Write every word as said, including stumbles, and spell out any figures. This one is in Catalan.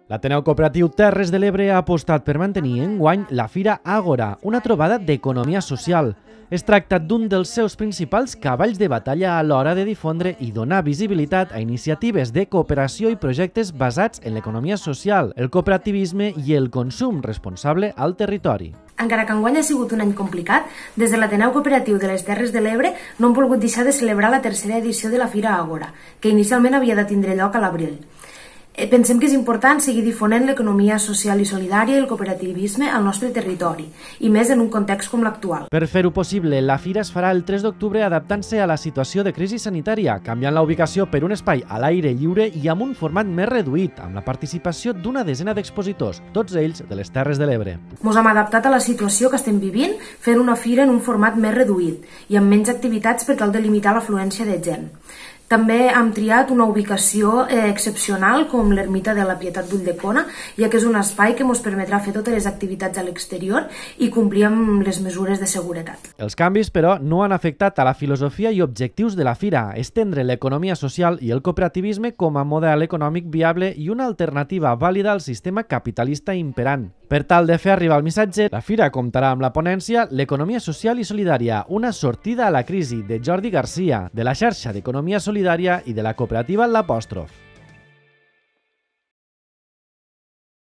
L'Ateneu Cooperatiu Terres de l'Ebre ha apostat per mantenir enguany la Fira Àgora, una trobada d'economia social. Es tracta d'un dels seus principals cavalls de batalla a l'hora de difondre i donar visibilitat a iniciatives de cooperació i projectes basats en l'economia social, el cooperativisme i el consum responsable al territori. Encara que enguany ha sigut un any complicat, des de l'Ateneu Cooperatiu de les Terres de l'Ebre no hem volgut deixar de celebrar la tercera edició de la Fira Àgora, que inicialment havia de tindre lloc a l'abril. Pensem que és important seguir difonent l'economia social i solidària i el cooperativisme al nostre territori, i més en un context com l'actual. Per fer-ho possible, la Fira es farà el tres d'octubre adaptant-se a la situació de crisi sanitària, canviant la ubicació per un espai a l'aire lliure i amb un format més reduït, amb la participació d'una desena d'expositors, tots ells de les Terres de l'Ebre. Ens hem adaptat a la situació que estem vivint, fent una fira en un format més reduït i amb menys activitats per tal de limitar l'afluència de gent. També hem triat una ubicació eh, excepcional com l'Ermita de la Pietat d'Ulldecona, ja que és un espai que ens permetrà fer totes les activitats a l'exterior i complir amb les mesures de seguretat. Els canvis, però, no han afectat a la filosofia i objectius de la Fira, estendre l'economia social i el cooperativisme com a model econòmic viable i una alternativa vàlida al sistema capitalista imperant. Per tal de fer arribar el missatge, la Fira comptarà amb la ponència L'economia social i solidària, una sortida a la crisi de Jordi Garcia, de la xarxa d'Economia Solidària i de la cooperativa L'Apòstrof.